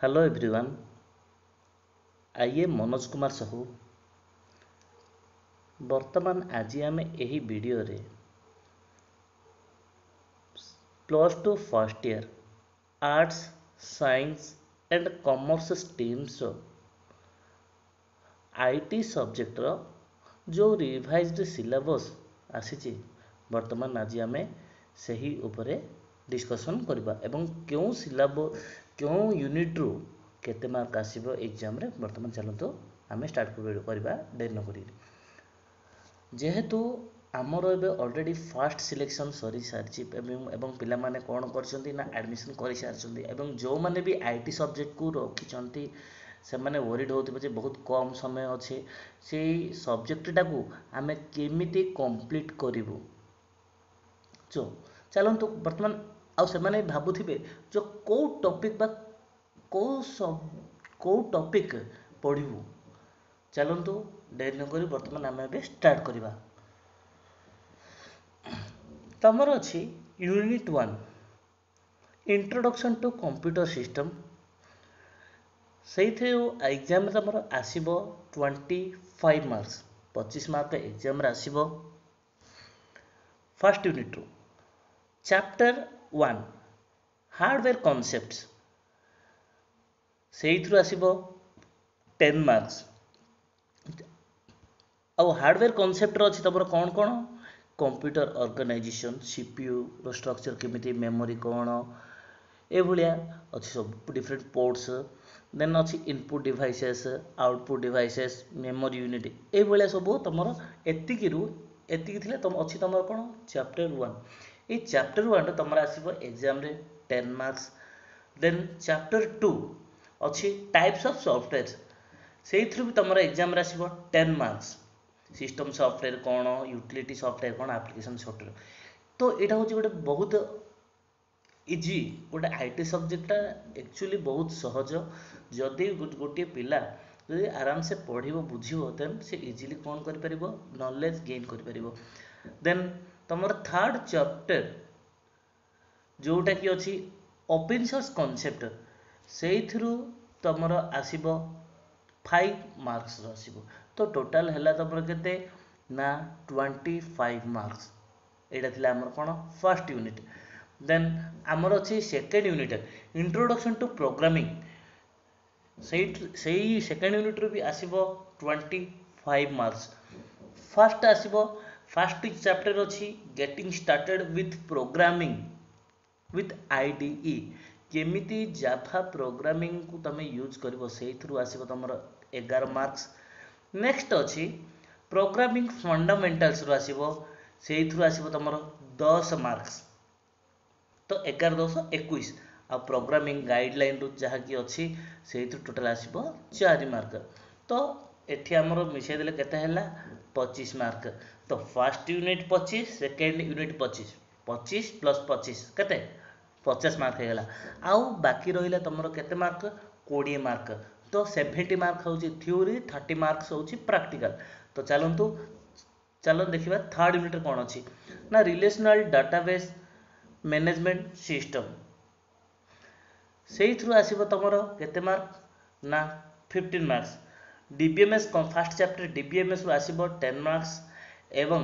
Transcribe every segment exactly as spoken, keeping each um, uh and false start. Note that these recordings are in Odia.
Hello everyone, I am Manoj Kumar Sahu. ବର୍ତ୍ତମାନ ଆଜି ଆମେ ଏହି ଭିଡ଼ିଓରେ plus two first year arts science and commerce ଷ୍ଟ୍ରିମ୍ସର I T ସବଜେକ୍ଟର ଯେଉଁ ରିଭାଇଜ୍ଡ ସିଲାବସ୍ ଆସିଛି ବର୍ତ୍ତମାନ ଆଜି ଆମେ ସେହି ଉପରେ ଡିସ୍କସନ୍ କରିବା ଏବଂ କେଉଁ ସିଲାବ କେଉଁ ୟୁନିଟ୍ରୁ କେତେ ମାର୍କ ଆସିବ ଏକ୍ଜାମ୍ରେ ବର୍ତ୍ତମାନ ଚାଲନ୍ତୁ ଆମେ ଷ୍ଟାର୍ଟ କରିବା ଡେରି ନ କରିକି ଯେହେତୁ ଆମର ଏବେ ଅଲରେଡ଼ି ଫାଷ୍ଟ ସିଲେକ୍ସନ୍ ସରିସାରିଛି ଏବଂ ଏବଂ ପିଲାମାନେ କ'ଣ କରିଛନ୍ତି ନା ଆଡ଼ମିସନ୍ କରିସାରିଛନ୍ତି ଏବଂ ଯେଉଁମାନେ ବି I T ସବଜେକ୍ଟକୁ ରଖିଛନ୍ତି ସେମାନେ ୱରିଡ଼ ହେଉଥିବେ ଯେ ବହୁତ କମ୍ ସମୟ ଅଛି ସେଇ ସବଜେକ୍ଟଟାକୁ ଆମେ କେମିତି କମ୍ପ୍ଲିଟ୍ କରିବୁ ସୋ ଚାଲନ୍ତୁ ବର୍ତ୍ତମାନ ଆଉ ସେମାନେ ଭାବୁଥିବେ ଯେ କେଉଁ ଟପିକ୍ ବା କେଉଁ ସବ କେଉଁ ଟପିକ୍ ପଢ଼ିବୁ ଚାଲନ୍ତୁ ଡେରି ନକରି ବର୍ତ୍ତମାନ ଆମେ ଏବେ ଷ୍ଟାର୍ଟ କରିବା ତମର ଅଛି unit one introduction to computer system ସେଇଥିରୁ ଏକ୍ଜାମ୍ରେ ତମର ଆସିବ ଟ୍ୱେଣ୍ଟି ଫାଇଭ୍ ମାର୍କସ୍ ପଚିଶ ମାର୍କ ଏକ୍ଜାମ୍ରେ ଆସିବ ଫାର୍ଷ୍ଟ ୟୁନିଟ୍ରୁ ଚାପ୍ଟର ୱାନ୍ ହାର୍ଡ଼ୱେର୍ କନସେପ୍ଟସ୍ ସେଇଥିରୁ ଆସିବ ଟେନ୍ ମାର୍କସ୍ ଆଉ ହାର୍ଡ଼ୱେର୍ କନସେପ୍ଟର ଅଛି ତମର କ'ଣ କ'ଣ କମ୍ପ୍ୟୁଟର ଅର୍ଗାନାଇଜେସନ୍ ସିପିୟୁର ଷ୍ଟ୍ରକ୍ଚର କେମିତି ମେମୋରି କ'ଣ ଏଭଳିଆ ଅଛି ସବୁ ଡିଫରେଣ୍ଟ ପୋର୍ଟସ୍ ଦେନ୍ ଅଛି input devices output devices memory unit ଏଇଭଳିଆ ସବୁ ତମର ଏତିକିରୁ ଏତିକି ଥିଲେ ତମ ଅଛି ତମର କ'ଣ ଚାପ୍ଟର ୱାନ୍ ଏଇ ଚାପ୍ଟର ୱାନ୍ରେ ତମର ଆସିବ ଏକ୍ଜାମ୍ରେ ten marks then chapter two ଅଛି ଟାଇପ୍ସ ଅଫ୍ ସଫ୍ଟୱେର୍ ସେଇଥିରୁ ବି ତମର ଏକ୍ଜାମ୍ରେ ଆସିବ ଟେନ୍ ମାର୍କସ୍ ସିଷ୍ଟମ୍ ସଫ୍ଟୱେର୍ କ'ଣ ୟୁଟିଲିଟି ସଫ୍ଟୱେର୍ କ'ଣ ଆପ୍ଲିକେସନ୍ ସଫ୍ଟୱେର୍ ତ ଏଇଟା ହେଉଛି ଗୋଟେ ବହୁତ ଇଜି ଗୋଟେ I T ସବଜେକ୍ଟଟା ଆକ୍ଚୁଆଲି ବହୁତ ସହଜ ଯଦି ଗୋଟିଏ ପିଲା ଯଦି ଆରାମସେ ପଢ଼ିବ ବୁଝିବ ଦେନ୍ ସେ ଇଜିଲି କ'ଣ କରିପାରିବ ନଲେଜ୍ ଗେନ୍ କରିପାରିବ ଦେନ୍ ତମର ଥାର୍ଡ଼ ଚାପ୍ଟର ଯେଉଁଟାକି ଅଛି ଓପେନ୍ ସୋର୍ସ କନସେପ୍ଟ ସେଇଥିରୁ ତମର ଆସିବ ଫାଇଭ୍ ମାର୍କସର ଆସିବ ତ ଟୋଟାଲ୍ ହେଲା ତମର କେତେ ନା ଟ୍ୱେଣ୍ଟି ଫାଇଭ୍ ମାର୍କସ୍ ଏଇଟା ଥିଲା ଆମର କ'ଣ ଫାର୍ଷ୍ଟ ୟୁନିଟ୍ ଦେନ୍ ଆମର ଅଛି second unit introduction to programming ସେଇଠୁ ସେଇ ସେକେଣ୍ଡ ୟୁନିଟ୍ରୁ ବି ଆସିବ ଟ୍ୱେଣ୍ଟି ଫାଇଭ୍ ମାର୍କସ୍ ଫାର୍ଷ୍ଟ ଆସିବ ଫାର୍ଷ୍ଟ ଚାପ୍ଟର ଅଛି getting started with programming with I D E କେମିତି ଜାଭା ପ୍ରୋଗ୍ରାମିଂକୁ ତୁମେ ୟୁଜ୍ କରିବ ସେଇଥିରୁ ଆସିବ ତୁମର ଏଗାର ମାର୍କସ୍ ନେକ୍ସଟ ଅଛି ପ୍ରୋଗ୍ରାମିଂ ଫଣ୍ଡାମେଣ୍ଟାଲ୍ସରୁ ଆସିବ ସେଇଥିରୁ ଆସିବ ତୁମର ଦଶ ମାର୍କସ୍ ତ ଏଗାର ଦଶ ଏକୋଇଶ ଆଉ ପ୍ରୋଗ୍ରାମିଂ ଗାଇଡ଼ଲାଇନରୁ ଯାହାକି ଅଛି ସେଇଥିରୁ ଟୋଟାଲ୍ ଆସିବ ଚାରି ମାର୍କ ତ ଏଠି ଆମର ମିଶାଇ ଦେଲେ କେତେ ହେଲା ପଚିଶ ମାର୍କ ତ ଫାର୍ଷ୍ଟ ୟୁନିଟ୍ ପଚିଶ ସେକେଣ୍ଡ ୟୁନିଟ୍ ପଚିଶ ପଚିଶ ପ୍ଲସ୍ ପଚିଶ କେତେ ପଚାଶ ମାର୍କ ହେଇଗଲା ଆଉ ବାକି ରହିଲା ତୁମର କେତେ ମାର୍କ କୋଡ଼ିଏ ମାର୍କ ତ ସେଭେଣ୍ଟି ମାର୍କ ହେଉଛି ଥିଓରି ଥାର୍ଟି ମାର୍କସ୍ ହେଉଛି ପ୍ରାକ୍ଟିକାଲ ତ ଚାଲନ୍ତୁ ଚାଲନ୍ତୁ ଦେଖିବା ଥାର୍ଡ଼ ୟୁନିଟ୍ରେ କ'ଣ ଅଛି ନା ରିଲେସନାଲ୍ ଡାଟାବେସ୍ ମ୍ୟାନେଜମେଣ୍ଟ ସିଷ୍ଟମ୍ ସେଇଥିରୁ ଆସିବ ତୁମର କେତେ ମାର୍କ ନା fifteen marks DBMS first chapter ଡିବିଏମ୍ଏସ୍ରୁ ଆସିବ ଟେନ୍ ମାର୍କସ୍ ଏବଂ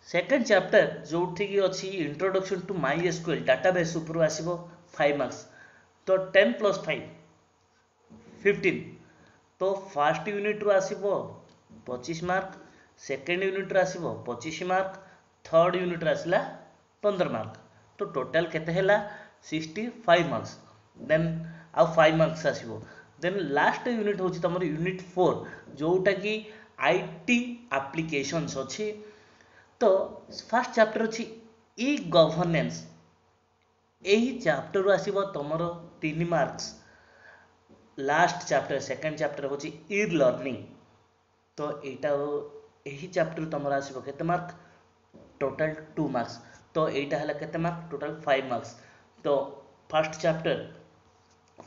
ସେକେଣ୍ଡ ଚାପ୍ଟର ଯେଉଁଠିକି ଅଛି introduction to MySQL database ଉପରୁ ଆସିବ ଫାଇଭ୍ ମାର୍କସ୍ ତ ଟେନ୍ ପ୍ଲସ୍ ଫାଇଭ୍ ଫିଫ୍ଟିନ୍ ତ ଫାର୍ଷ୍ଟ ୟୁନିଟ୍ରୁ ଆସିବ ପଚିଶ ମାର୍କ ସେକେଣ୍ଡ ୟୁନିଟ୍ରୁ ଆସିବ ପଚିଶ ମାର୍କ ଥର୍ଡ଼ ୟୁନିଟ୍ରୁ ଆସିଲା ପନ୍ଦର ମାର୍କ ତ ଟୋଟାଲ୍ କେତେ ହେଲା ସିକ୍ସଟି ଫାଇଭ୍ ମାର୍କସ୍ ଦେନ୍ ଆଉ ଫାଇଭ୍ ମାର୍କସ୍ ଆସିବ ଦେନ୍ ଲାଷ୍ଟ ୟୁନିଟ୍ ହେଉଛି ତୁମର ୟୁନିଟ୍ ଫୋର୍ ଯେଉଁଟାକି I T applications ଅଛି ତ ଫାର୍ଷ୍ଟ ଚାପ୍ଟର ଅଛି ଇ ଗଭର୍ନେନ୍ସ ଏହି ଚାପ୍ଟରରୁ ଆସିବ ତୁମର ତିନି marks last chapter second chapter ହେଉଛି ଇ ଲର୍ଣ୍ଣିଂ ତ ଏଇଟା ଏହି ଚାପ୍ଟରରୁ ତୁମର ଆସିବ କେତେ ମାର୍କ ଟୋଟାଲ୍ ଟୁ ମାର୍କସ୍ ତ ଏଇଟା ହେଲା କେତେ ମାର୍କ ଟୋଟାଲ୍ ଫାଇଭ୍ ମାର୍କସ୍ ତ ଫାର୍ଷ୍ଟ ଚାପ୍ଟର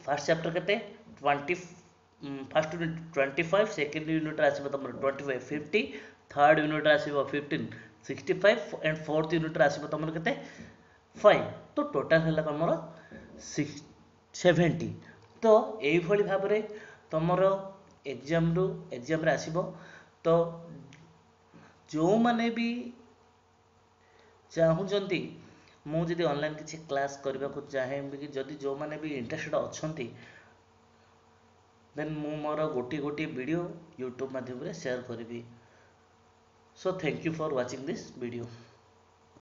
ଫାର୍ଷ୍ଟ ଚାପ୍ଟର କେତେ twenty first unit twenty five second ୟୁନିଟ୍ରେ ଆସିବ ତୁମର ଟ୍ୱେଣ୍ଟି ଫାଇଭ୍ ଫିଫ୍ଟି ଥାର୍ଡ଼ ୟୁନିଟ୍ରେ ଆସିବ fifteen sixty five and fourth ୟୁନିଟ୍ରେ ଆସିବ ତୁମର କେତେ ଫାଇଭ୍ ତ ଟୋଟାଲ୍ ହେଲା ତୁମର ସେଭେଣ୍ଟି ତ ଏଇଭଳି ଭାବରେ ତୁମର ଏକ୍ଜାମ୍ରୁ ଏକ୍ଜାମ୍ରେ ଆସିବ ତ ଯେଉଁମାନେ ବି ଚାହୁଁଛନ୍ତି ମୁଁ ଯଦି ଅନଲାଇନ୍ କିଛି କ୍ଲାସ୍ କରିବାକୁ ଚାହେଁ କି ଯଦି ଯେଉଁମାନେ ବି ଇଣ୍ଟରେଷ୍ଟେଡ଼ ଅଛନ୍ତି ଦେନ୍ ମୁଁ ମୋର ଗୋଟିଏ ଗୋଟିଏ ଭିଡ଼ିଓ ୟୁଟ୍ୟୁବ୍ ମାଧ୍ୟମରେ ସେୟାର କରିବି So thank you for watching this video.